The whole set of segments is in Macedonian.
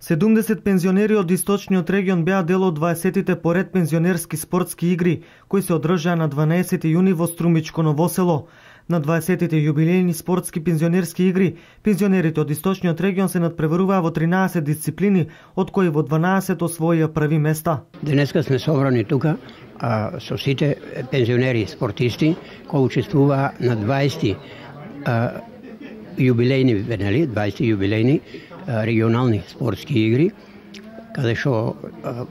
70 пензионери од Источниот регион беа дел од 20-тите поред пензионерски спортски игри, кои се одржаа на 12 јуни во Струмичко Ново село. На 20-тите јубилејни спортски пензионерски игри, пензионерите од Источниот регион се надпреваруваа во 13 дисциплини, од кои во 12 освоија први места. Денеска сме собрани тука со сите пензионери спортисти кои учествуваа на 20 јубилејни, 20 јубилејни регионални спортски игри, каде што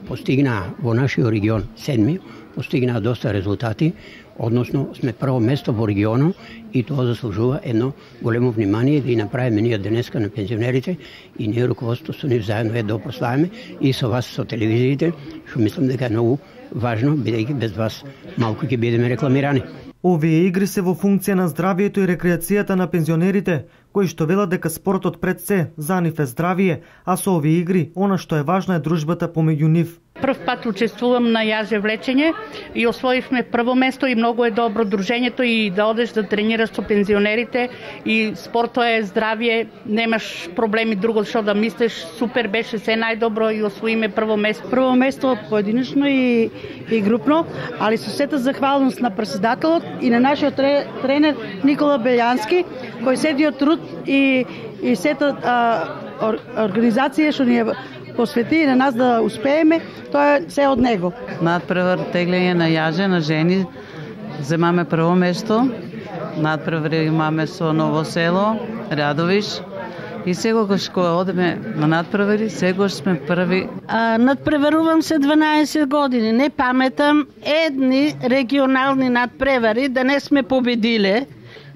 постигнаа во нашиот регион седми, постигнаа доста резултати, односно сме прво место во регионот и тоа заслужува едно големо внимание да и направиме ние денеска на пензионерите и ние руководството со нив заедно да прославиме и со вас со телевизиите, што мислам дека е многу важно, бидејќи без вас малку ќе бидеме рекламирани. Овие игри се во функција на здравието и рекреацијата на пензионерите, кои што велат дека спортот пред се за нив е здравие, а со овие игри она што е важно е дружбата помеѓу нив. Прв пат учествувам на јаже влечење и освоивме прво место и многу е добро дружењето и да одеш да тренираш со пензионерите и спортот е здравие, немаш проблеми друго што да мислиш, супер беше се најдобро и освоиме прво место. Прво место поединечно и групно, али со сета захвалност на претседателот и на нашиот тренер Никола Белјански, кој седи од труд и сета организација што ни посвети на нас да успееме, тоа е се од него. Надпревар теглење на јаже на жени, земаме прво место. Надпревар имаме со Ново село, Радовиш. И секогаш кога одеме на надпревари, секогаш сме први. Надпреварувам се 12 години. Не паметам едни регионални надпревари да не сме победиле.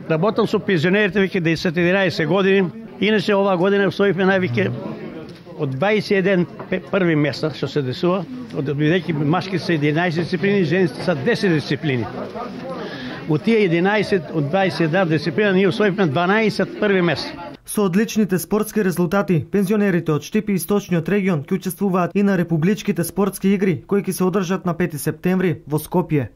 Работам со пензионерите веќе 10-11 години. Иначе оваа година освоивме највеќе од 21 први места што се десува, бидејќи машки се 11 дисциплини, жените се 10 дисциплини. Од тие 11 од 21 дисциплина ние освоивме 12 први места. Со одличните спортски резултати, пензионерите од Штип и Источниот регион ќе учествуваат и на републичките спортски игри кои ќе се одржат на 5 септември во Скопје.